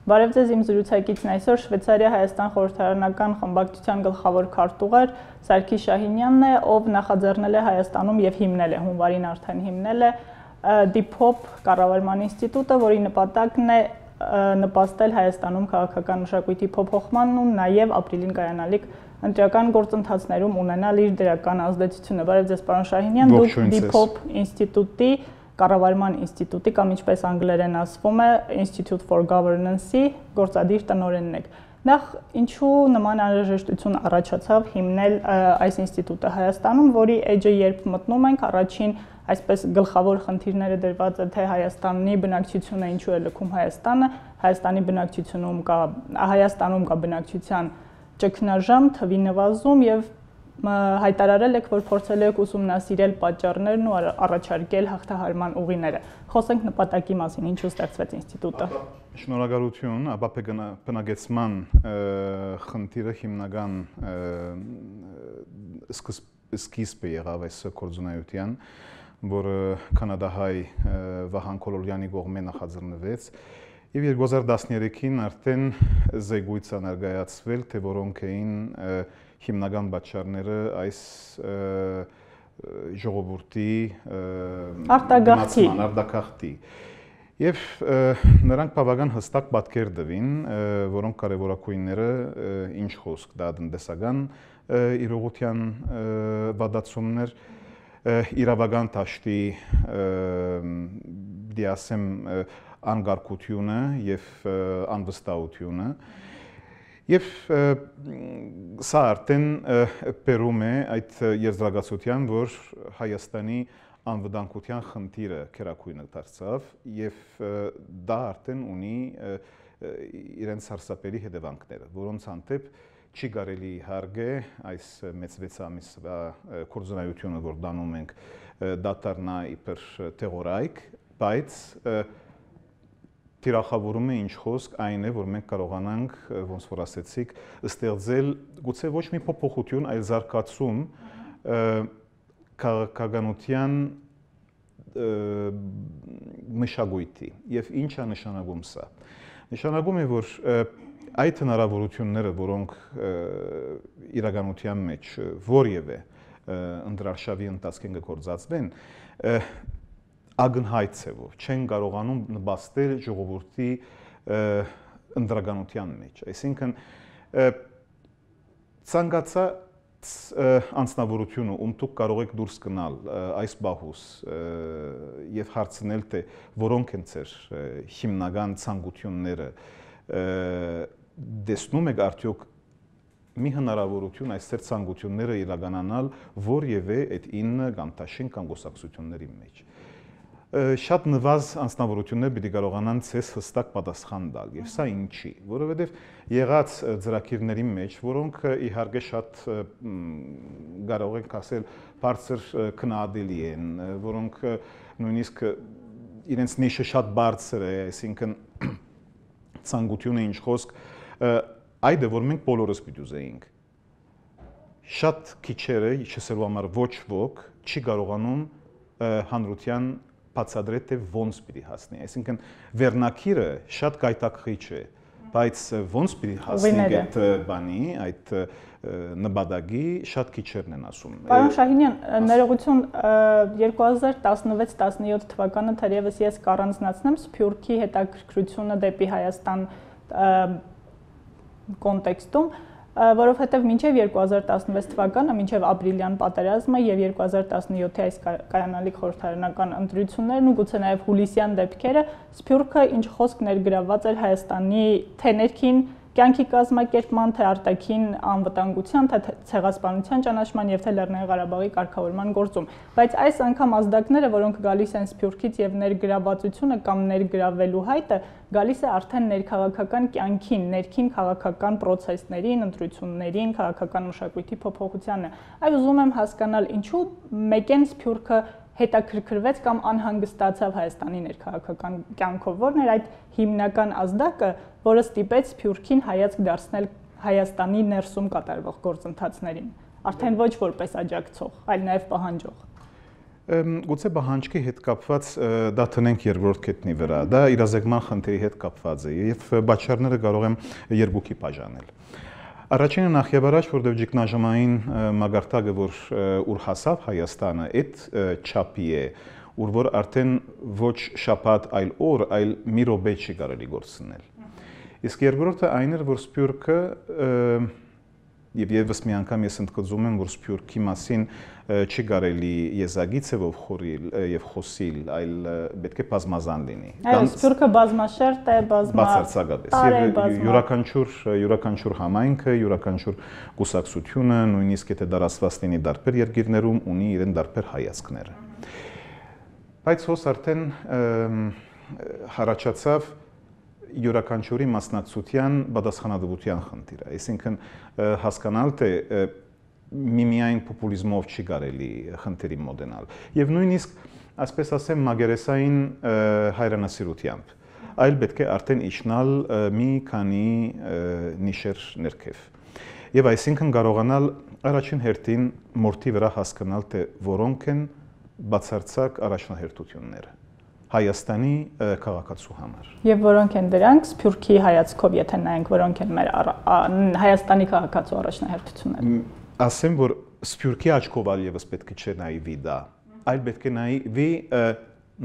Բարև ձեզ, իմ զրուցակիցն այսօր Շվեյցարիա-Հայաստան խորհրդարանական խմբակցության գլխավոր քարտուղար Սարգիս Շահինյանն է, ով նախաձեռնել է Հայաստանում եւ հիմնել է, հունվարին արդեն հիմնել է DIPHOP կառավարման ինստիտուտը, որի նպատակն է նպաստել Հայաստանում քաղաքական մշակույթի փոփոխմանն ու նաեւ ապրիլին կայանալիք ընտրական գործընթացներում ունենալ իր դրական ազդեցությունը։ Բարև ձեզ, պարոն Շահինյան, դուք DIPHOP ինստիտուտի կառավարման ինստիտուտի կամ ինչպես անգլերեն ասվում է Institute for Governance-ի գործադիր տնօրենն եք։ Նախ ինչու նման անհրաժեշտություն առաջացավ հիմնել այս ինստիտուտը Հայաստանում, որի էջը երբ մտնում ենք, առաջին այսպես գլխավոր խնդիրները դրված է թե Հայաստանի բնակչությունը ինչու է լքում Հայաստանը, Հայաստանում կա բնակչության ճգնաժամ, թվի նվազում եւ հայտարարել եք, որ փորձել եք ուսումնասիրել պատճառներն ու առաջարկել հաղթահարման ուղիները։ Խոսենք նպատակի մասին, ինչու ստեղծվեց ինստիտուտը։ Շնորհակալություն, ապա բնագեցման խնդիրը հիմնական սկիզբը եղավ այս գործունեության, որը կանադահայ Վահան Քոլորյանի կողմէ նախաձեռնվեց եւ 2013-ին արդեն զեկույց ներկայացվել, թե որոնք էին հիմնական պատճառները այս ժողովրդի արտագաղթի եւ նրանք բավական հստակ պատկեր տվին, որոնք կարևորակույնները ինչ խոսք դա տնտեսական իրողության վատացումներ, իրավական դաշտի դիասեմ անկարգությունը եւ անվստահությունը Եվ սա արդեն բերում է այդ եզրակացության, որ Հայաստանի անվտանգության խնդիրը քերակույնը դարձավ եւ դա արդեն ունի իրենց սարսափելի հետևանքները, որոնց հանդեպ չի կարելի հարգե այս մեծ 6 ամիսվա գործունեությունը, որ դանում ենք, դատարնա իբր թեղորայք, բայց Տիրախավորում է ինչ խոսք այն է, որ մենք կարողանանք, ոնց որ ասեցիք, ստեղծել գուցե ոչ մի փոփոխություն, այլ զարգացում քաղաքականության մշակույթի։ Եվ ինչ է նշանակում սա։ Նշանակում է, որ այդ հնարավորությունները, որոնք իրականության մեջ որևէ ընդրարշավի ընթացքին կգործածվեն, ագնհայտ ցևով չեն կարողանում նպաստել ժողովրդի ընդրականության մեջ, այսինքն ցանկացած անձնավորությունը, ում դուք կարող եք դուրս գնալ այս բահուս եւ հարցնել, թե որոնք են ձեր հիմնական ցանկությունները, տեսնում եք արդյոք մի հնարավորություն այս ձեր ցանկությունները իրականանալ որևէ այդ 9 կամ 10 կամ գոսակցությունների մեջ Շատ նվազ անձնավորություններ պիտի կարողանան ցես հստակ պատասխան տալ եւ սա ինչի, որովհետեւ եղած ծրագիրների մեջ, որոնք իհարկե շատ կարող ենք ասել բարձր քննադատելի են, որոնք նույնիսկ իրենց նիշը շատ բարձր է, այսինքն ցանկությունը ինչ խոսք, այդ է որ մենք բոլորս պիտի ուզեինք։ Շատ քիչերը, չասելու համար ոչ ոք չի կարողանում հանրության բացատրել թե ոնց պիտի հասնի, այսինքն վերնակիրը շատ գայթակղիչ է, բայց ոնց պիտի հասնի այդ բանի, այդ նպատակի շատ քիչերն են ասում։ Պարոն Շահինյան, ներողություն 2016-17 թվականը թերևս ես կառանձնացնեմ Սփյուռքի հետաքրքրությունը դեպի Հայաստան կոնտեքստում, որովհետև մինչև 2016 թվականը, մինչև ապրիլյան պատերազմը եւ 2017-ի այս կայանալիք խորհրդարանական ընտրություններն ու գուցե նաեւ հուլիսյան դեպքերը, Սփյուռքը ինչ խոսք ներգրավված էր Հայաստանի թե ներքին կյանքի կազմակերպման, թե արտաքին անվտանգության, թե ցեղասպանության ճանաչման եւ թե Լեռնային Ղարաբաղի կարգավորման գործում, բայց այս անգամ ազդակները, որոնք գալիս են Սփյուռքից եւ ներգրավվածությունը կամ ներգրավելու հայտը գալիս է արդեն ներքաղաքական կյանքին, ներքին քաղաքական process-ներին, ընտրություններին, քաղաքական մշակույթի փոփոխությանը։ Այ ուզում եմ հասկանալ, ինչու մեկեն Սփյուռքը հետաքրքրվեց կամ անհանգստացավ Հայաստանի ներքաղաքական կյանքով, որն էր այդ հիմնական ազդակը, որը ստիպեց Սփյուռքին հայացք դարձնել Հայաստանի ներսում կատարվող գործընթացներին, արդեն ոչ որպես աջակցող, այլ նաև պահանջող։ Գուցե պահանջքի հետ կապված դա տնենք երկրորդ կետնի վրա, դա իրազեկման խնդրի հետ կապված է եւ պատճառները կարող եմ երկուքի բաժանել։ Առաջինը նախ եւ առաջ, որովհետեւ ճգնաժամային մագարտակը, որ հասավ Հայաստանը, այդ չափի է, որ արդեն ոչ շաբաթ, այլ օր, այլ մի րոպե չի կարելի գործնել։ Իսկ երկրորդը այն էր, որ Սփյուռքը եւ եւս մի անգամ ես ընդգծում եմ, որ Սփյուռքի մասին չի կարելի եզակի ցևով խորիլ եւ խոսիլ, այլ պետք է բազմազան լինի։ Այո, Սփյուռքը բազմաշերտ է, բացարձակապես։ Յուրաքանչյուր համայնքը, յուրաքանչյուր կուսակցությունը, նույնիսկ եթե դարասված լինի դարբեր երկիրներում, ունի իրեն դարբեր հայացքները։ Բայց հոս արդեն հարաճացավ յուրաքանչյուրի մասնակցության պատասխանատվության խնդիրը, այսինքն հասկանալ թե միմիայն պոպուլիզմով չի կարելի խնդիրի մոտենալ եւ նույնիսկ այսպես ասեմ մագերեսային հայրենասիրությամբ, այլ պետք է արդեն իջնալ մի քանի նիշեր ներքև եւ այսինքն կարողանալ առաջին հերթին մորթի վրա հասկանալ թե որոնք են բացարձակ առաջնահերթությունները Հայաստանի քաղաքացու համար։ Եվ որոնք են դրանք Սփյուռքի հայացքով, եթե նայենք, որոնք են մեր Հայաստանի քաղաքացու առաջնահերթությունները։ Ասեմ, որ Սփյուռքի աչքով ալևս պետք չէ նայվի դա, այլ պետք է նայվի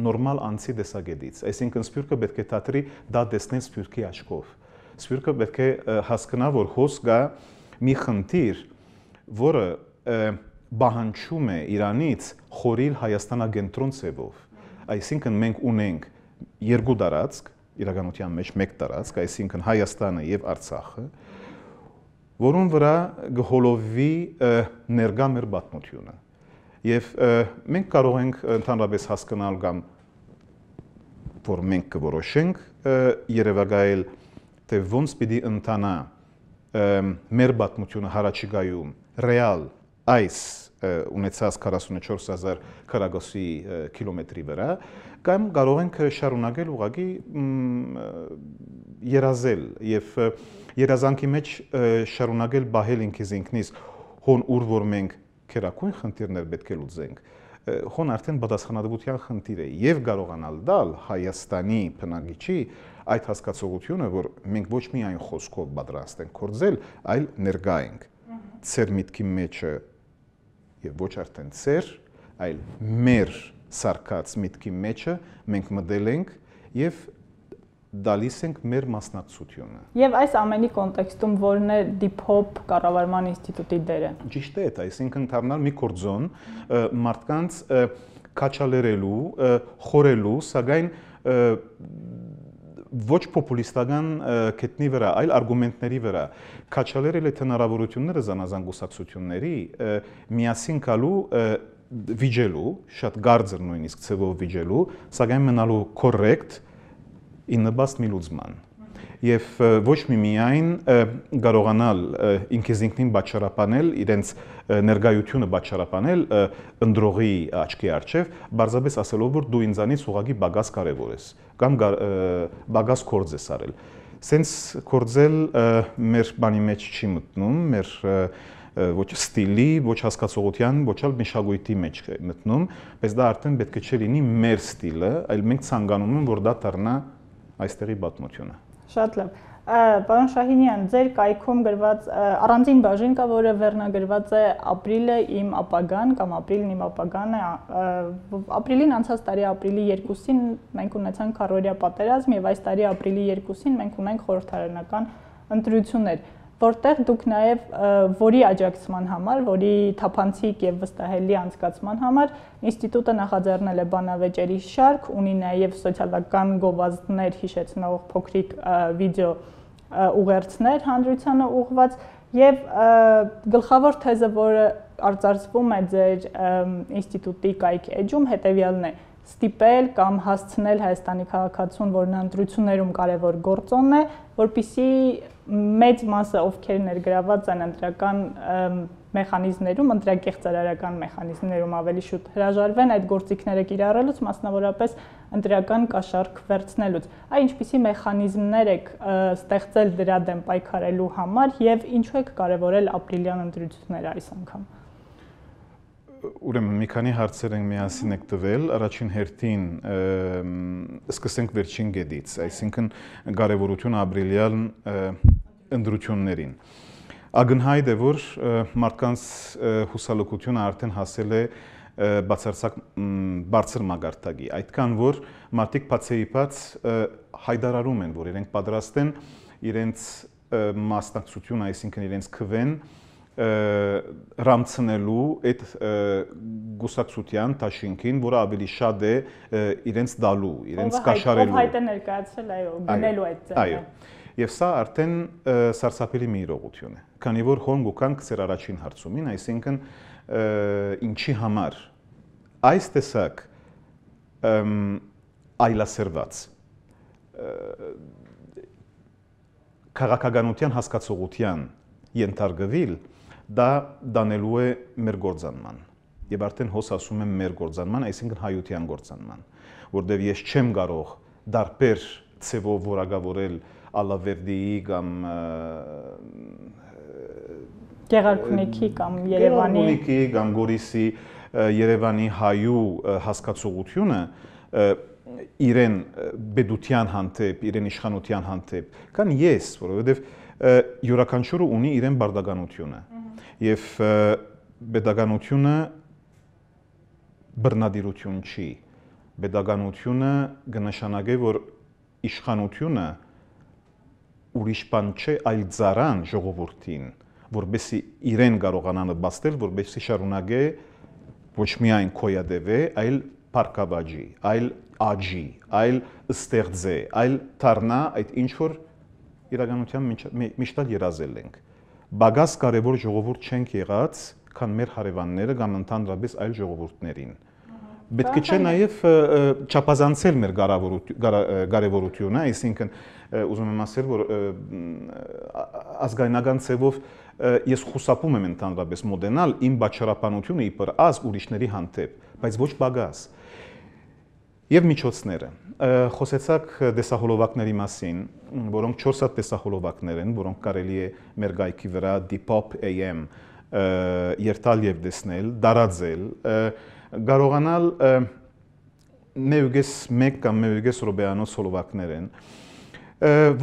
նորմալ անձի տեսակետից։ Այսինքն Սփյուռքը պետք է դատի դա տեսնել Սփյուռքի աչքով։ Սփյուռքը պետք է հասկանա, որ հոս կա մի խնդիր, որը բանջում է Իրանից խորիլ Հայաստանագենտրոն ցևով։ Այսինքն մենք ունենք երկու տարածք, իրականության մեջ մեկ տարածք, այսինքն Հայաստանը եւ Արցախը, որոնց վրա գհոլովի ներկա մեր պատմությունը։ Եվ մենք կարող ենք ընդհանրապես հասկանալ կամ որ մենք կորոշենք երևակայել թե ոնց պիտի ընթանա մեր պատմությունը հարաճիգայում ռեալ այս ունեցած 44000 քառակուսի կիլոմետրի վրա կամ կարող ենք շարունակել ուղղակի երազել եւ երազանքի մեջ շարունակել բահել ինքնից հոն ուր որ մենք քերակույն խնդիրներ պետք է լուծենք հոն արդեն պատասխանատվության խնդիր է եւ կարողանալ դալ Հայաստանի բնակիչի այդ հասկացողությունը որ մենք ոչ միայն խոսքով պատրաստ ենք կործել այլ ներկա ենք ծեր միտքի մեջը եւ ոչ արդեն ծեր, այլ մեր սարկած միտքի մեջը մենք մտել ենք եւ դալիս ենք մեր մասնակցությունը։ Եվ այս ամենի կոնտեքստում որն է Դիփոփ կառավարման ինստիտուտի դերը։ Ճիշտ է, այսինքն դառնալ մի կորձոն մարդկանց քաչալերելու, խորելու, սակայն ոչ պոպուլիստական կետնի վրա, այլ արգումենտների վրա քաչալերել է հնարավորությունները զանազան կուսակցությունների միասին գալու վիճելու, շատ գարձր նույնիսկ ցևով վիճելու, սակայն մնալու կորեկտ իննբաստ մի լուծման։ Եվ ոչ միայն կարողանալ ինքնին պատճառաբանել իրենց ներկայությունը պատճառաբանել ընդրողի աչքի առջև, բարձրապես ասելով որ դու ինձանից ուղղակի բագաս կարևոր ես կամ բագաս կորձ ես արել։ Սենց կորձել մեր բանի մեջ չի մտնում, մեր ոչ ստիլի, ոչ հասկացողության, ոչ էլ մշակույթի մեջ է մտնում, բայց դա արդեն պետք չէ լինի մեր ստիլը, այլ մենք ցանկանում ենք որ դա դառնա այստեղի պատմությունը։ Շատ լավ։ Պարոն Շահինյան, ձեր կայքում գրված առանձին բաժին կա, որը վերնագրված է ապրիլը իմ ապագան կամ ապրիլն իմ ապագան է։ Ապրիլին անցած տարի ապրիլի 2-ին մենք ունեցանք քառօրյա պատերազմ եւ այս տարի ապրիլի 2-ին մենք ունենք խորհրդարանական ընտրություններ, որտեղ դուք նաեւ որի աջակցման համար, որի թափանցիկ եւ վստահելի անցկացման համար ինստիտուտը նախաձեռնել է բանավեճերի շարք, ունի նաեւ սոցիալական գովազդներ հիշեցնող փոքրիկ վիդեո ուղերձներ հանրությանը ուղղված եւ գլխավոր թեզը, որը արձարծվում է ձեր ինստիտուտի կայք էջում, հետեւյալն է. ստիպել կամ հասցնել Հայաստանի քաղաքացուն, որն ընտրություններում կարևոր գործոն է, որպեսզի մեծ մասը ովքեր ներգրաված են ընտրական մեխանիզմներում, ընտրակեղծարարական մեխանիզմներում ավելի շուտ հրաժարվեն այդ գործիքները կիրառելուց, մասնավորապես ընտրական կաշառք վերցնելուց։ Այ ինչպիսի մեխանիզմներ եք ստեղծել դրա դեմ պայքարելու համար եւ ինչու եք կարևորել ապրիլյան ընտրությունները այս անգամ։ ուրեմն մի քանի հարցեր ենք միասին եք տվել, առաջին հերթին սկսենք վերջին գետից, այսինքն կարևորությունը ապրիլյան ընտրություններին։ Ակնհայտ է, որ մարդկանց հուսալուկությունը արդեն հասել է բացարձակ բարձր մակարդակի, այդքան որ մարդիկ բացեիբաց հայտարարում են, որ իրենք պատրաստ են իրենց մասնակցություն, այսինքն իրենց քվեն ռամցնելու այդ գուսակցության դաշինքին, որը ավելի շատ է իրենց դալու, իրենց կաշառելու։ Ով հայտ է ներկայացրել, այո, գնելու այդ ձեռը։ Այո։ Եվ սա արդեն սարսափելի մի իրողություն է, քանի որ հոն գուկանք ծեր առաջին հարցումին, այսինքն ինչի համար այս տեսակ այլասերված քաղաքականության հասկացողության ենթարկվել, դա դանելու է մեր գործանման։ Եվ արդեն հոս ասում եմ մեր գործանման, այսինքն հայության գործանման, որտեղ ես չեմ կարող դարբեր ցևով որակավորել Ալավերդիի կամ Գեղարքունիքի կամ Երևանի կամ Գորիսի Երևանի հայու հասկացողությունը իրեն բեդության հանդեպ, իրեն իշխանության հանդեպ, կան ես, որովհետև յուրաքանչյուրը ունի իրեն բարդականությունը եւ բեդականությունը բռնադիրություն չի, բեդականությունը կնշանակի, որ իշխանությունը ուրիշ բան չէ, այլ ծառան ժողովրդին, որբեսի իրեն կարողանան բաստել, որբեսի շարունակե ոչ միայն կոյադևե, այլ պարկավաջի, այլ աջի, այլ ստեղծե, այլ դառնա այդ ինչ որ իրականության միշտ երազել ենք։ Բագաս կարևոր ժողովուրդ չենք եղած, քան մեր հարևանները կամ ընդհանրապես այլ ժողովուրդներին։ Պետք չէ նաև չափազանցել մեր կարևորությունը, այսինքն ուզում եմ ասել, որ ազգայնական ցևով ես խուսափում եմ ընդհանրապես մոդենալ իմ բաչարապանությունը իբր ազգ ուրիշների հանդեպ, բայց ոչ բագաս։ Եվ միջոցները։ Խոսեցաք տեսահոլովակների մասին, որոնք 4 հատ տեսահոլովակներ են, որոնք կարելի է մեր գայքի վրա Depop AM երթալ եւ տեսնել, դարաձել, կարողանալ մեուգես 1 կամ մեուգես ռոբեանոց հոլովակներ են,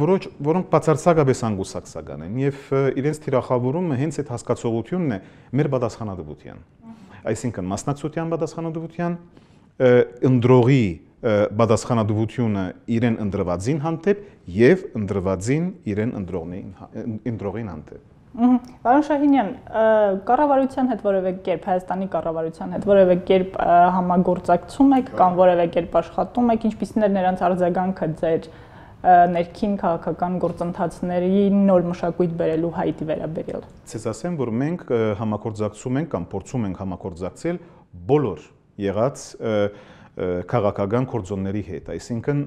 որոնք բացարձակապես անգուսակցական են եւ իրենց թիրախավորումը հենց այդ հասկացողությունն է մեր պատասխանատվության։ Այսինքն մասնակցության պատասխանատվության, ընդրողի պատասխանատվությունը իրեն ընդրվածին հանդեպ եւ ընդրվածին իրեն ընդրողին հանդեպ։ Պարոն Շահինյան, կառավարության հետ որևէ կերպ, Հայաստանի կառավարության հետ որևէ կերպ համագործակցում եք կամ որևէ կերպ աշխատում եք, ինչպիսին է նրանց արձագանքը ձեր ներքին քաղաքական գործընթացների նոր մշակույթ բերելու հայտի վերաբերյալ։ Ցես ասեմ, որ մենք համագործակցում ենք կամ փորձում ենք համագործակցել բոլոր եղած քաղաքական գործոնների հետ, այսինքն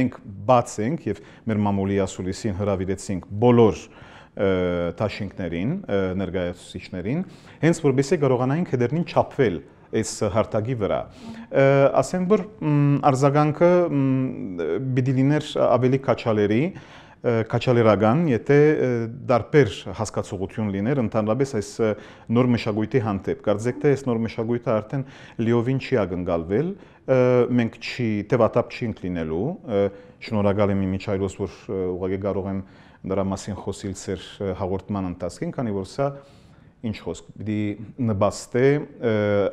մենք բաց ենք եւ մեր մամուլի ասուլիսին հրավիրեցինք բոլոր դաշինքներին, ներկայացուցիչներին, հենց որպեսզի կարողանային քեդերնին չափվել այս հարթակի վրա։ Ասեմ, որ արձագանքը պիտի լիներ ավելի քաչալերական, եթե դարբեր հասկացողություն լիներ ընդհանրապես այս նոր մշակույթի հանդեպ։ Կարծեք թե այս նոր մշակույթը արդեն լիովին չի ակնկալվել, մենք թևատապ չենք լինելու, շնորհակալ եմ Իմիջայլոս, որ ուղղակի կարող եմ դրա մասին խոսել ծեր հաղորդման ընթացքին, քանի որ սա ինչ խոսք, պիտի նպաստե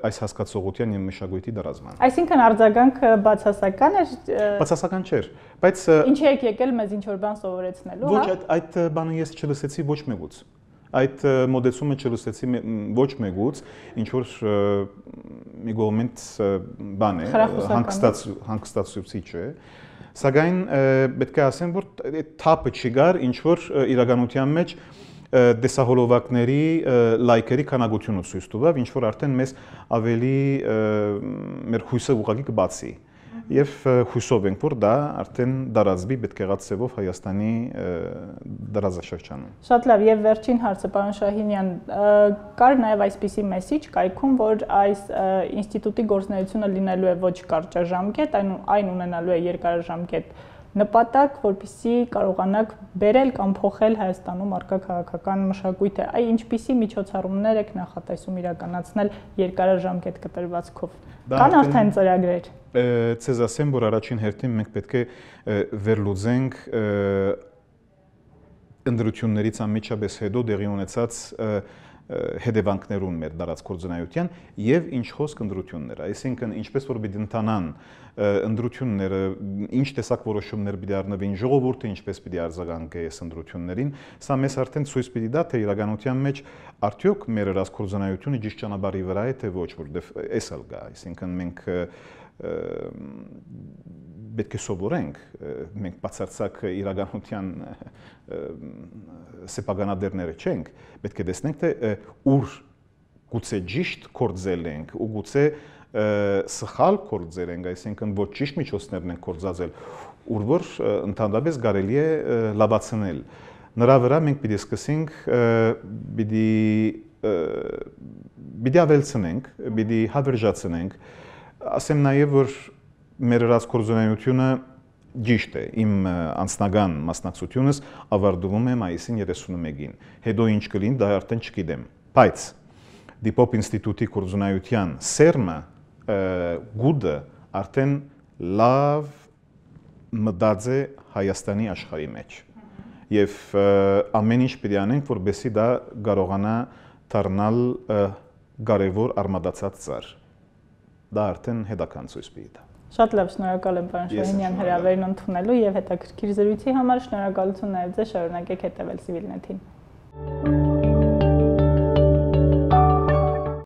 այս հասկացողության եւ մշակույթի դրազման։ Այսինքն արձագանքը բացասական էր։ Բացասական չէր, բայց ինչի եք եկել մեզ ինչ որ բան սովորեցնելու, հա։ Ոչ, այդ բանը ես չլսեցի ոչ մեկուց։ Այդ մոդեցումը չլսեցի ոչ մեկուց, ինչ որ մի կողմից բան է, հանգստացուցիչ է։ Սակայն պետք է ասեմ, որ այդ թափը չկար, ինչ որ իրականության մեջ տեսահոլովակների լայքերի քանակությունը ցույց տվավ, ինչ որ արդեն մեզ ավելի մեր հույսը ուղղակի կբացի։ Եվ հույսով ենք, որ դա արդեն դարածվի պետք եղած ծևով Հայաստանի դարաշրջանում։ Շատ լավ, եւ վերջին հարցը, պարոն Շահինյան, կար նաեւ այսպիսի մեսիջ կայքում, որ այս ինստիտուտի գործունեությունը լինելու է ոչ կարճաժամկետ, այն ունենալու է երկարաժամկետ նպատակ, որպեսզի կարողանաք բերել կամ փոխել Հայաստանում առկա քաղաքական մշակույթը։ Այ ինչպիսի միջոցառումներ եք նախատեսում իրականացնել երկարաժամկետ կտրվածքով։ Կան արդեն ծրագրեր։ Ցեզ ասեմ, որ առաջին հերթին մենք պետք է վերլուծենք ընդրություններից անմիջապես հետո դեղի ունեցած հետևանքներուն մեր դարած կորձնայության եւ ինչ խոսք ընդրություններ, այսինքն ինչպես որ պիտի ընթանան ընդրությունները, ինչ տեսակ որոշումներ պիտի առնվին ժողովուրդը, ինչպես պիտի արձագանքի այս ընդրություններին, սա մեզ արդեն ցույց պիտի տա թե իրականության մեջ արդյոք մեր դարած կորձնայությունը ճիշտ ճանապարհի վրա է թե ոչ, որովհետեւ էս ալ գա, այսինքն մենք պետք է սովորենք, մենք բացարձակ իրականության սեփականատերները չենք, պետք է տեսնենք թե ուր գուցե ճիշտ կորձել ենք ու գուցե սխալ կորձել ենք, այսինքն ոչ ճիշտ միջոցներն են կորձածել, ուր որ ընդհանրապես կարելի է լավացնել։ Նրա վրա մենք պիտի սկսենք, պիտի ավելցնենք, պիտի հավերժացնենք, ասեմ նաև որ մեր դրած կորձունայությունը ճիշտ է, իմ անձնական մասնակցությունս ավարտվում է մայիսին 31-ին, հետո ինչ կլինի դա արդեն չգիտեմ, բայց Դիպոպ ինստիտուտի կորձունայության սերմը գուդը արդեն լավ մտած է Հայաստանի աշխարհի մեջ եւ ամեն ինչ պիտի անենք որպեսզի դա կարողանա դառնալ կարևոր արմատացած ծառ, դա արդեն հետաքան ցույց պիտի տա։ Շատ լավ, շնորհակալ եմ պարոն Շահինյան հրավերն ընդունելու եւ հետաքրքիր զրույցի համար, շնորհակալություն նաեւ ձեզ, շարունակեք հետեւել Civilnet-ին։